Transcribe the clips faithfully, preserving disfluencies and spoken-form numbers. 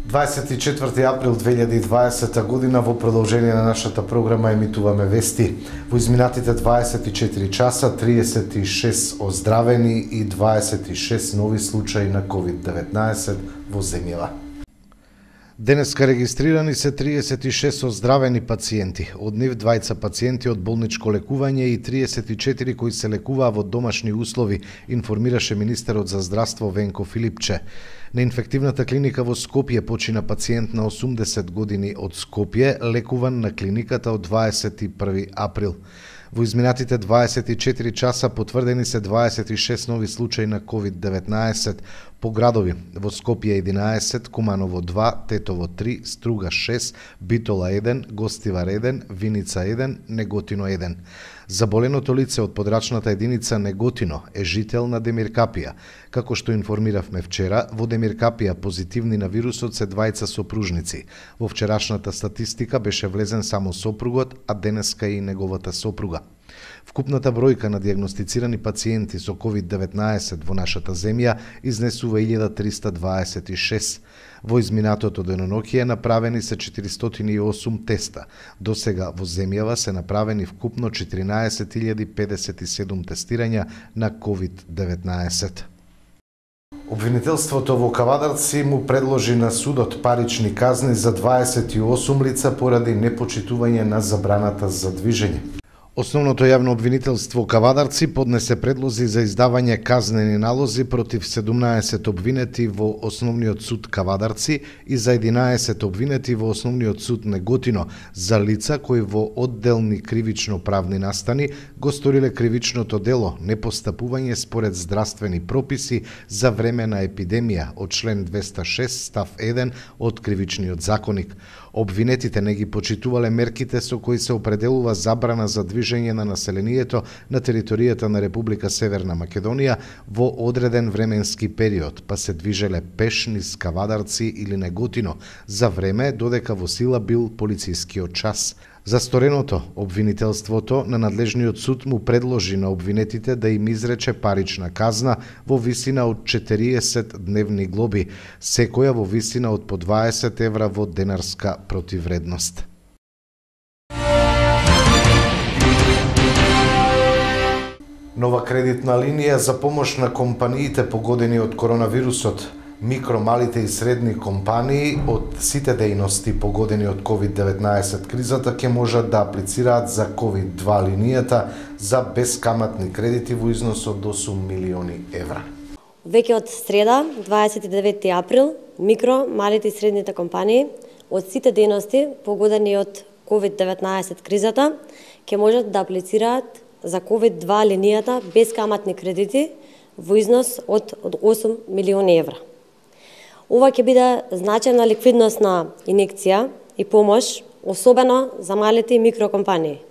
дваесет и четврти април две илјади и дваесета година во продолжение на нашата програма емитуваме вести. Во изминатите дваесет и четири часа триесет и шест оздравени и дваесет и шест нови случаи на ковид деветнаесет во земјава. Денеска регистрирани се триесет и шест оздравени пациенти, од нив двајца пациенти од болничко лекување и триесет и четири кои се лекуваа во домашни услови, информираше министерот за здравство Венко Филипче. На инфективната клиника во Скопје почина пациент на осумдесет години од Скопје, лекуван на клиниката од дваесет и први април. Во изминатите дваесет и четири часа потврдени се дваесет и шест нови случаи на ковид деветнаесет по градови. Во Скопје единаесет, Куманово два, Тетово три, Струга шест, Битола еден, Гостивар еден, Виница еден, Неготино еден. Заболеното лице од подрачната единица Неготино е жител на Демиркапија. Како што информиравме вчера, во Демиркапија позитивни на вирусот се двајца сопружници. Во вчерашната статистика беше влезен само сопругот, а денеска и неговата сопруга. Вкупната бројка на дијагностицирани пациенти со ковид деветнаесет во нашата земја изнесува илјада триста дваесет и шест. Во изминатото деноноќие направени се четиристотини и осум теста. До сега во земјава се направени вкупно четиринаесет илјади педесет и седум тестирања на ковид деветнаесет. Обвинителството во Кавадарци му предложи на судот парични казни за дваесет и осум лица поради непочитување на забраната за движење. Основното јавно обвинителство Кавадарци поднесе предлози за издавање казнени налози против седумнаесет обвинети во Основниот суд Кавадарци и за единаесет обвинети во Основниот суд Неготино за лица кои во одделни кривично-правни настани го сториле кривичното дело непостапување според здравствени прописи за време на епидемија од член двеста шест став еден од Кривичниот законник. Обвинетите не ги почитувале мерките со кои се определува забрана за движење на населението на територијата на Република Северна Македонија во одреден временски период, па се движеле пеш низ Кавадарци или Неготино за време додека во сила бил полицискиот час. За стореното, обвинителството на надлежниот суд му предложи на обвинетите да им изрече парична казна во висина од четириесет дневни глоби, секоја во висина од по дваесет евра во денарска противвредност. Нова кредитна линија за помош на компаниите погодени од коронавирусот. Микро, малите и средни компании од сите дејности погодени од ковид деветнаесет кризата ќе можат да аплицираат за ковид два линијата за бескаматни кредити во износ од осум милиони евра. Веќе од среда, дваесет и деветти април, микро, малите и средните компании од сите дејности погодени од ковид деветнаесет кризата ќе можат да аплицираат за ковид два линијата бескаматни кредити во износ од, од осум милиони евра. Ова ќе биде значајна ликвидносна инекција и помош, особено за малите и микрокомпании.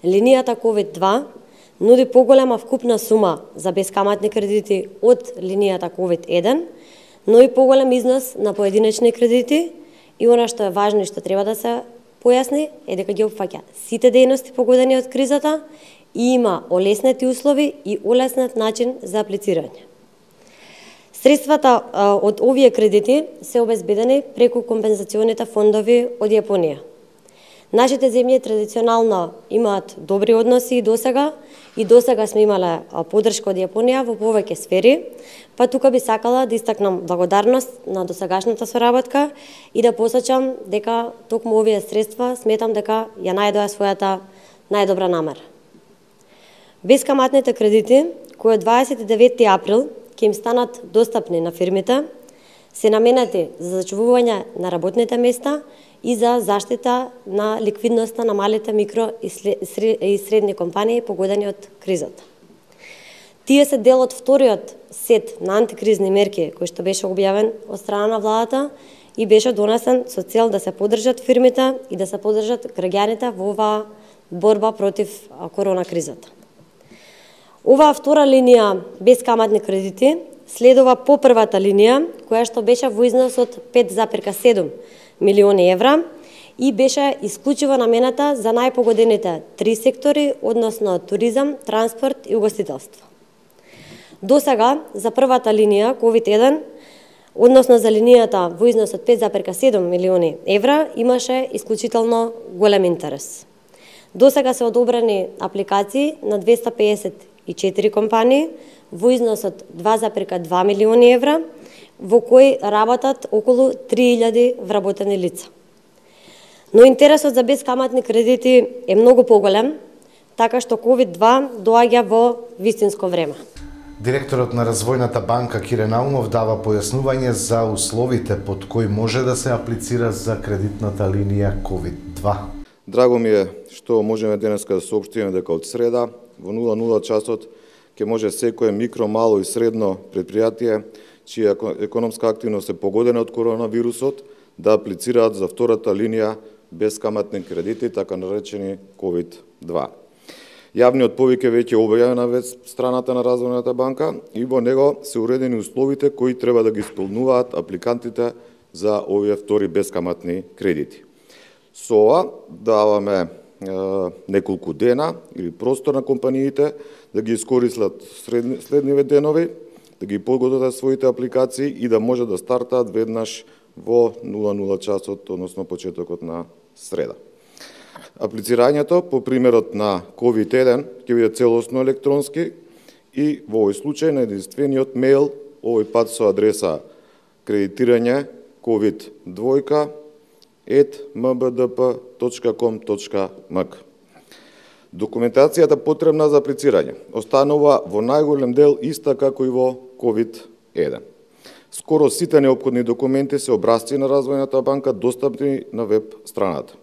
Линијата ковид два нуди поголема вкупна сума за бескаматни кредити од линијата ковид еден, но и поголем износ на поединечни кредити и она што е важно и што треба да се појасни е дека ги опфаќа сите дејности погодени од кризата и има олеснети услови и олеснет начин за аплицирање. Средствата од овие кредити се обезбедени преку компензационите фондови од Јапонија. Нашите земји традиционално имаат добри односи и досега, и досега сме имале поддршка од Јапонија во повеќе сфери, па тука би сакала да истакнам благодарност на досегашната соработка и да посочам дека токму овие средства сметам дека ја најдоа својата најдобра намера. Бескаматните кредити, кои од дваесет и деветти април ќе им станат достапни на фирмите, се наменети за зачувување на работните места и за заштита на ликвидноста на малите микро и средни компании погодени од кризата. Тие се дел од вториот сет на антикризни мерки кој што беше објавен од страна на владата и беше донесен со цел да се поддржат фирмите и да се поддржат граѓаните во оваа борба против корона кризата. Оваа втора линија бескаматни кредити следува по првата линија, која што беше во износ од пет зарем седум милиони евра и беше исклучиво намената за најпогодените три сектори, односно туризам, транспорт и угостителство. До сега, за првата линија ковид еден, односно за линијата во износ од пет зарез седум милиони евра, имаше исклучително голем интерес. До сега се одобрени апликации на двесте педесет и четири компании во износ од два зарез два милиони евра, во кои работат околу три илјади вработени лица. Но интересот за бескаматни кредити е многу поголем, така што ковид два доаѓа во вистинско време. Директорот на Развојната банка Кире Наумов дава појаснување за условите под кои може да се аплицира за кредитната линија ковид два. Драго ми е што можеме денеска да соопштиме дека од среда во нула нула часот ќе може секое микро, мало и средно предпријатие чија економска активност е погодена од коронавирусот да аплицираат за втората линија бескаматни кредити, така наречени ковид два. Јавниот повик е веќе објавен на веб страната на Развојната банка и во него се уредени условите кои треба да ги исполнуваат апликантите за овие втори бескаматни кредити. Со ова даваме е, неколку дена или простор на компаниите да ги искористат следниве денови, да ги подготват своите апликации и да може да стартаат веднаш во нула нула часот, односно почетокот на среда. Аплицирањето по примерот на ковид еден ќе биде целосно електронски и во овој случај на единствениот мејл, овој пат со адреса кредитирање ковид два ет ем б д п точка ком точка м к. Документацијата потребна за аплицирање останува во најголем дел иста како и во ковид еден. Скоро сите неопходни документи се образци на Развојната банка достапни на веб страната.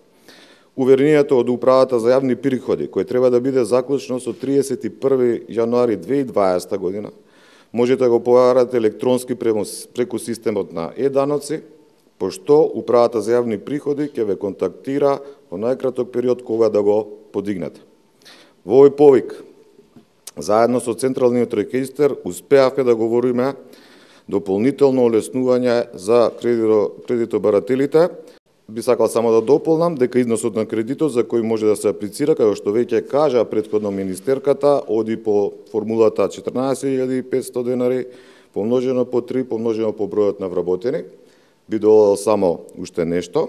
Уверението од Управата за јавни приходи, кој треба да биде заклучно со триесет и први јануари две илјади и дваесета година, можете да го поверите електронски преку системот на е-даноци, пошто Управата за јавни приходи ќе ве контактира во најкраток период кога да го подигнете. Во овој повик, заедно со Централниот регистар, успеавме да говориме дополнително олеснување за кредитобарателите. Би сакал само да дополнам дека износот на кредитот за кој може да се аплицира, како што веќе кажа претходно министерката, оди по формулата четрнаесет илјади и петстотини денари, помножено по три, помножено по бројот на вработени. Би додал само уште нешто,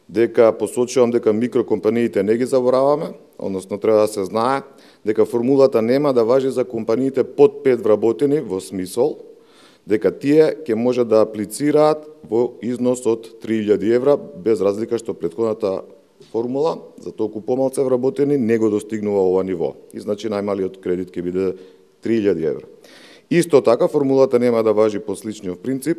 дека посочувам дека микрокомпаниите не ги забораваме, односно треба да се знае дека формулата нема да важи за компаниите под пет вработени, во смисол дека тие ќе може да аплицираат во износ од три илјади евра, без разлика што претходната формула за толку помалце вработени не го достигнува ова ниво. И значи најмалиот кредит ќе биде три илјади евра. Исто така формулата нема да важи по сличниот принцип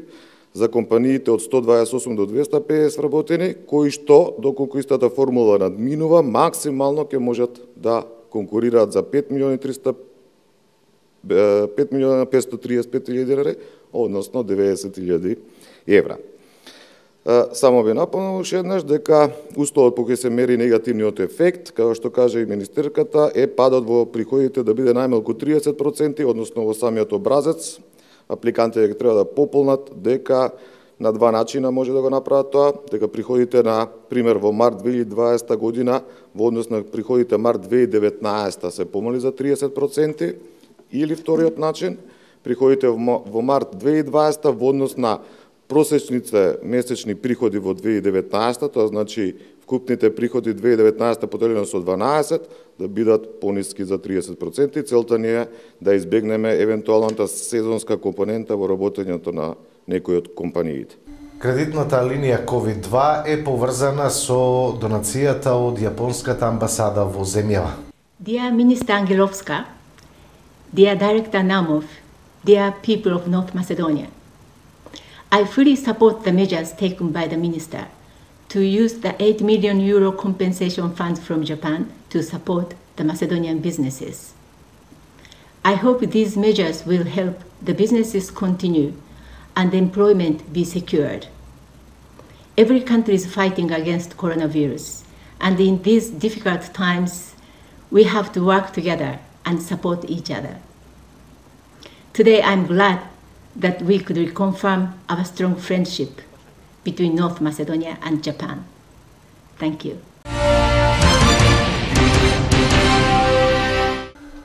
за компаниите од сто дваесет и осум до двесте и педесет вработени, кои што, доколку истата формула надминува, максимално ќе можат да конкурираат за пет милиони петстотини триесет и пет илјади денари, односно деветдесет илјади евра. Само би напомнил уште еднаш дека условот по кој се мери негативниот ефект, како што кажа и министерката, е падот во приходите да биде најмалку триесет проценти, односно во самиот образец. Апликантите ќе треба да пополнат дека на два начина може да го направат тоа, дека приходите на пример во март две илјади и дваесета година во однос на приходите март две илјади и деветнаесета се помали за триесет проценти, или вториот начин, приходите во март две илјади и дваесета во однос на просечните месечни приходи во две илјади и деветнаесета, тоа значи вкупните приходи две илјади и деветнаесета поделено со дванаесет, да бидат пониски за триесет проценти. Целта ни е да избегнеме евентуалната сезонска компонента во работењето на некои од компаниите. Кредитната линија ковид два е поврзана со донацијата од Јапонската амбасада во земјава. Dear Minister Angelovska, dear Director Naumov, dear people of North Macedonia, I fully support the measures taken by the Minister to use the eight million euro compensation fund from Japan to support the Macedonian businesses. I hope these measures will help the businesses continue and employment be secured. Every country is fighting against coronavirus, and in these difficult times, we have to work together and support each other. Today, I'm glad that we could reconfirm our strong friendship between North Macedonia and Japan. Thank you.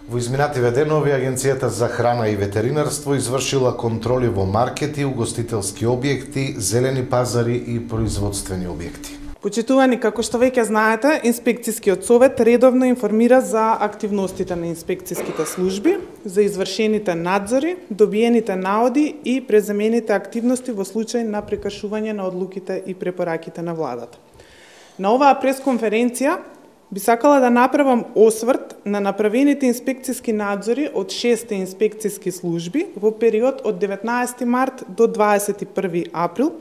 Во изминативе денови Агенцијата за храна и ветеринарство извршила контроли во маркети, угостителски објекти, зелени пазари и производствени објекти. Почитувани, како што веќе знаете, Инспекцијскиот совет редовно информира за активностите на инспекцијските служби, за извршените надзори, добиените наоди и преземените активности во случај на прекршување на одлуките и препораките на владата. На оваа пресконференција би сакала да направам осврт на направените инспекцијски надзори од шест инспекцијски служби во период од деветнаесети март до дваесет и први април,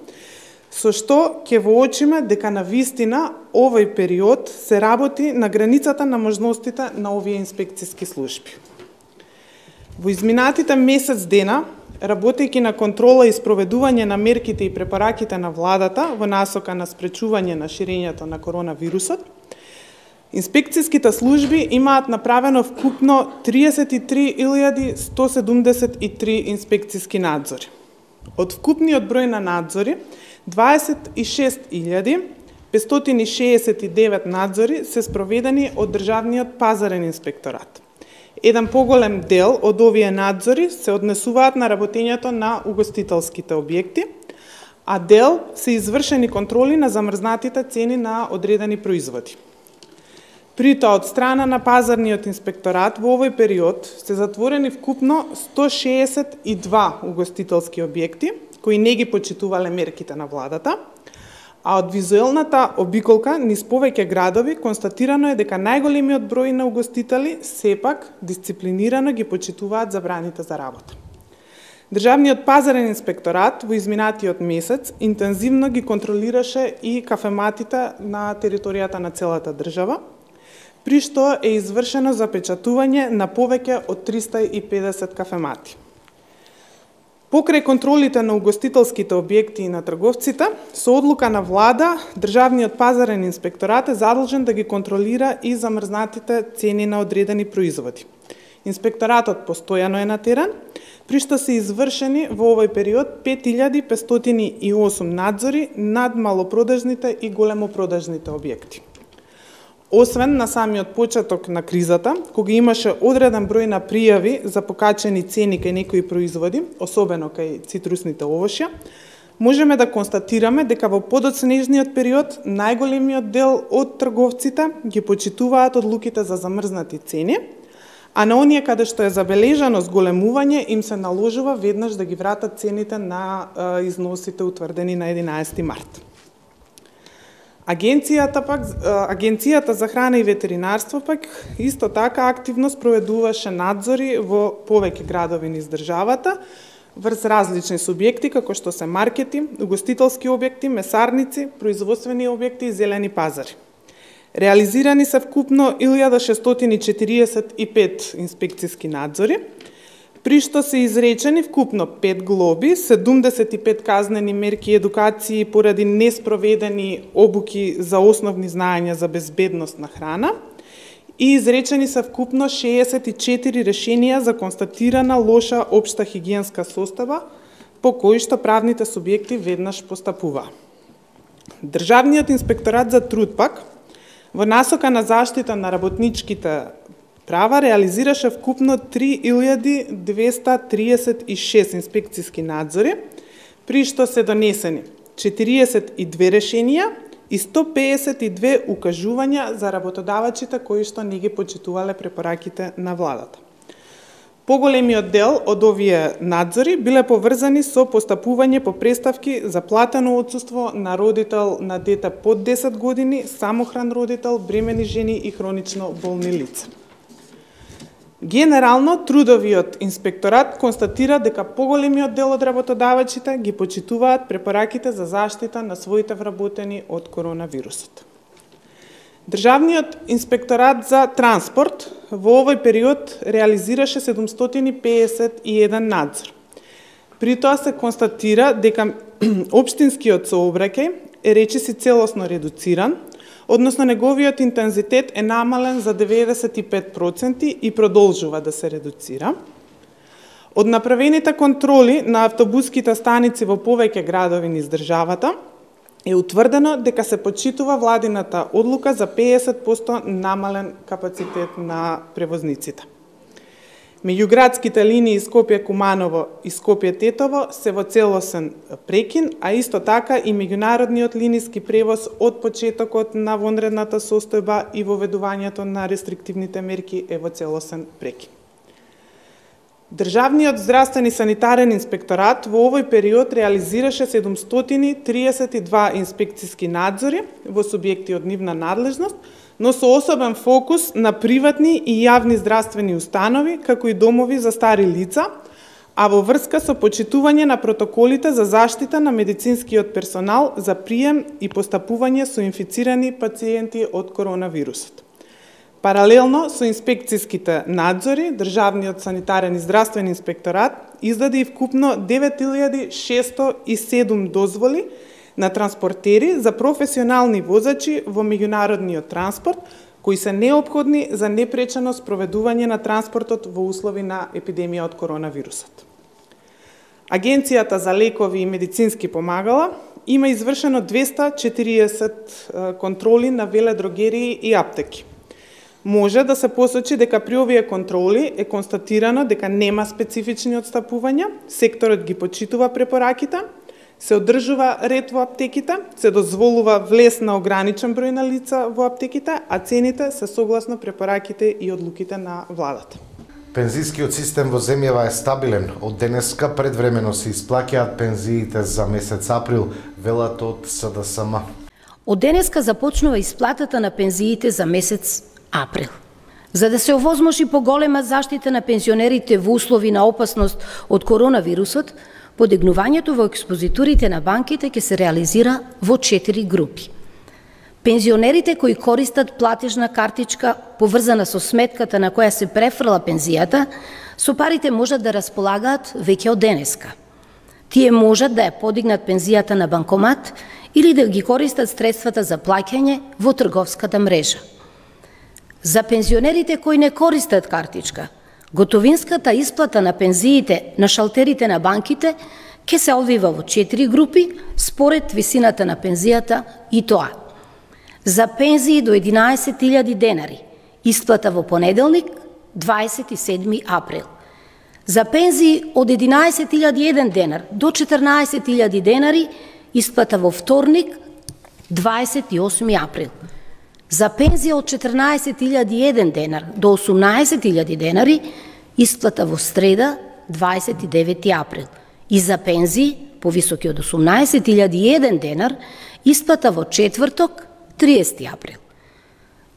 со што ќе воочиме дека на вистина овој период се работи на границата на можностите на овие инспекцијски служби. Во изминатите месец дена, работејќи на контрола и спроведување на мерките и препораките на владата во насока на спречување на ширењето на коронавирусот, инспекцијските служби имаат направено вкупно триесет и три илјади сто седумдесет и три инспекцијски надзори. Од вкупниот број на надзори, дваесет и шест илјади петстотини шеесет и девет надзори се спроведени од Државниот пазарен инспекторат. Еден поголем дел од овие надзори се однесуваат на работењето на угостителските објекти, а дел се извршени контроли на замрзнатите цени на одредени производи. При тоа, од страна на пазарниот инспекторат во овој период се затворени вкупно сто шеесет и два угостителски објекти, кои не ги почитувале мерките на владата, а од визуелната обиколка низ повеќе градови констатирано е дека најголемиот број на угостители сепак дисциплинирано ги почитуваат забраните за работа. Државниот пазарен инспекторат во изминатиот месец интензивно ги контролираше и кафематите на територијата на целата држава, при што е извршено запечатување на повеќе од триста и педесет кафемати. Покрај контролите на угостителските објекти и на трговците, со одлука на влада, Државниот пазарен инспекторат е задолжен да ги контролира и замрзнатите цени на одредени производи. Инспекторатот постојано е на терен, при што се извршени во овој период пет илјади петстотини и осум надзори над малопродажните и големопродажните објекти. Освен на самиот почеток на кризата, кога имаше одреден број на пријави за покачени цени кај некои производи, особено кај цитрусните овошја, можеме да констатираме дека во подоцнежниот период најголемиот дел од трговците ги почитуваат одлуките за замрзнати цени, а на оние каде што е забележано зголемување им се наложува веднаш да ги вратат цените на е, износите утврдени на единаесети март. Агенцијата пак Агенцијата за храна и ветеринарство пак исто така активно спроведуваше надзори во повеќе градови низ државата врз различни субјекти како што се маркети, угостителски објекти, месарници, производствени објекти и зелени пазари. Реализирани се вкупно илјада шестстотини четириесет и пет инспекцијски надзори, при што се изречени вкупно пет глоби, седумдесет и пет казнени мерки и едукации поради неспроведени обуки за основни знаења за безбедност на храна и изречени се вкупно шеесет и четири решенија за констатирана лоша општа хигиенска состојба по кои што правните субјекти веднаш постапува. Државниот инспекторат за труд пак во насока на заштита на работничките права реализираше вкупно три илјади двесте триесет и шест инспекцијски надзори, при што се донесени четириесет и две решенија и сто педесет и две укажувања за работодавачите кои што не ги почитувале препораките на владата. Поголемиот дел од овие надзори биле поврзани со постапување по преставки за платено отсуство на родител на дете под десет години, самохран родител, бремени жени и хронично болни лица. Генерално, трудовиот инспекторат констатира дека поголемиот дел од работодавачите ги почитуваат препораките за заштита на своите вработени од коронавирусот. Државниот инспекторат за транспорт во овој период реализираше седумстотини педесет и еден надзор. При тоа се констатира дека општинскиот сообраќај е речиси целосно редуциран, односно неговиот интензитет е намален за деветдесет и пет проценти и продолжува да се редуцира. Од направените контроли на автобуските станици во повеќе градови низ државата, е утврдено дека се почитува владината одлука за педесет проценти намален капацитет на превозниците. Меѓуградските линии Скопје-Куманово и Скопје-Тетово се во целосен прекин, а исто така и меѓународниот линиски превоз од почетокот на вонредната состојба и воведувањето на рестриктивните мерки е во целосен прекин. Државниот здравствен и санитарен инспекторат во овој период реализираше седумстотини триесет и два инспекциски надзори во субјекти од нивна надлежност, но со особен фокус на приватни и јавни здравствени установи, како и домови за стари лица, а во врска со почитување на протоколите за заштита на медицинскиот персонал за прием и постапување со инфицирани пациенти од коронавирусот. Паралелно со инспекциските надзори, Државниот санитарен и здравствен инспекторат издаде и вкупно девет илјади шесто и седум дозволи на транспортери за професионални возачи во меѓународниот транспорт, кои се неопходни за непречено спроведување на транспортот во услови на епидемија од коронавирусот. Агенцијата за лекови и медицински помагала има извршено двесте и четириесет контроли на веледрогерии и аптеки. Може да се посочи дека при овие контроли е констатирано дека нема специфични отстапувања, секторот ги почитува препораките, се одржува ред во аптеките, се дозволува влез на ограничен број на лица во аптеките, а цените се согласно препораките и одлуките на владата. Пензискиот систем во земјава е стабилен. Од денеска предвремено се исплаќаат пензиите за месец април, велат од С Д С М. Од денеска започнува исплатата на пензиите за месец април. За да се овозможи поголема заштита на пензионерите во услови на опасност од коронавирусот, подигнувањето во експозитурите на банките ќе се реализира во четири групи. Пензионерите кои користат платежна картичка поврзана со сметката на која се префрла пензијата, со парите можат да располагаат веќе од денеска. Тие можат да ја подигнат пензијата на банкомат или да ги користат средствата за плаќање во трговската мрежа. За пензионерите кои не користат картичка, готовинската исплата на пензиите на шалтерите на банките ќе се одвива во четири групи според висината на пензијата, и тоа: за пензии до единаесет илјади денари, исплата во понеделник, дваесет и седми април. За пензии од единаесет илјади еден денар до четрнаесет илјади денари, исплата во вторник, дваесет и осми април. За пензија од четрнаесет илјади еден денар до осумнаесет илјади денари, исплата во среда, дваесет и девети април. И за пензии повисоки од осумнаесет илјади еден денар, исплата во четврток, триесети април.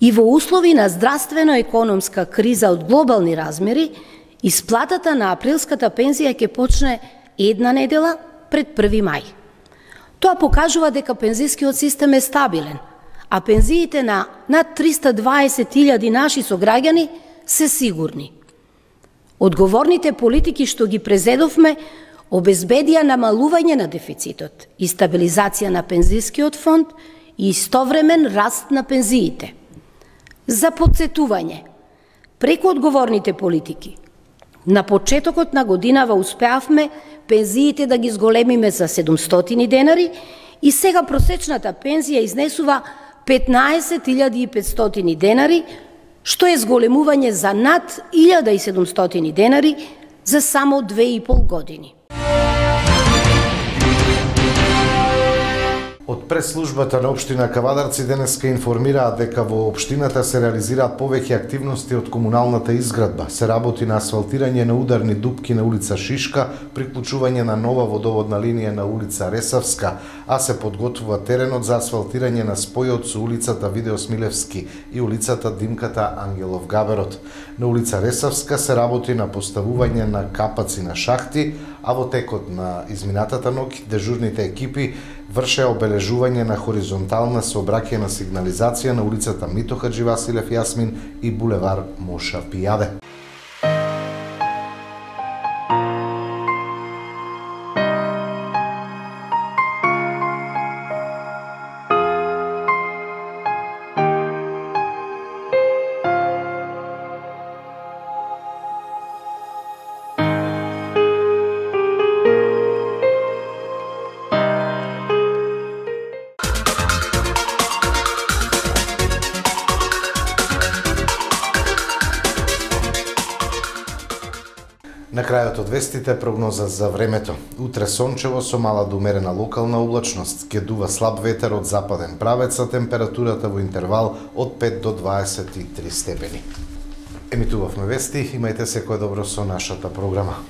И во услови на здравствено-економска криза од глобални размери, исплатата на априлската пензија ќе почне една недела пред први мај. Тоа покажува дека пензискиот систем е стабилен, а пензиите на над триста дваесет илјади наши сограѓани се сигурни. Одговорните политики што ги презедовме обезбедија намалување на дефицитот и стабилизација на пензискиот фонд и истовремен раст на пензиите. За потсетување, преку одговорните политики, на почетокот на годинава успеавме пензиите да ги зголемиме за седумстотини денари и сега просечната пензија изнесува петнаесет илјади и петстотини денари, што е зголемување за над илјада и седумстотини денари за само две и пол години. Од пресслужбата на општина Кавадарци денеска информираат дека во општината се реализираат повеќе активности од комуналната изградба. Се работи на асфалтирање на ударни дупки на улица Шишка, приклучување на нова водоводна линија на улица Ресавска, а се подготвува теренот за асфалтирање на спојот со улицата Видео Смилевски и улицата Димката Ангелов Габерот. На улица Ресавска се работи на поставување на капаци на шахти, а во текот на изминатата ноќ дежурните екипи вршеа обележување на хоризонтална сообраќајна сигнализација на улицата Мито Хаджи Василев Јасмин и булевар Моша Пијаде. На крајот од вестите прогноза за времето. Утре сончево со мала до умерена локална облачност, ќе дува слаб ветер од западен правец, а температурата во интервал од пет до дваесет и три степени. Емитувавме вести, имајте секое добро со нашата програма.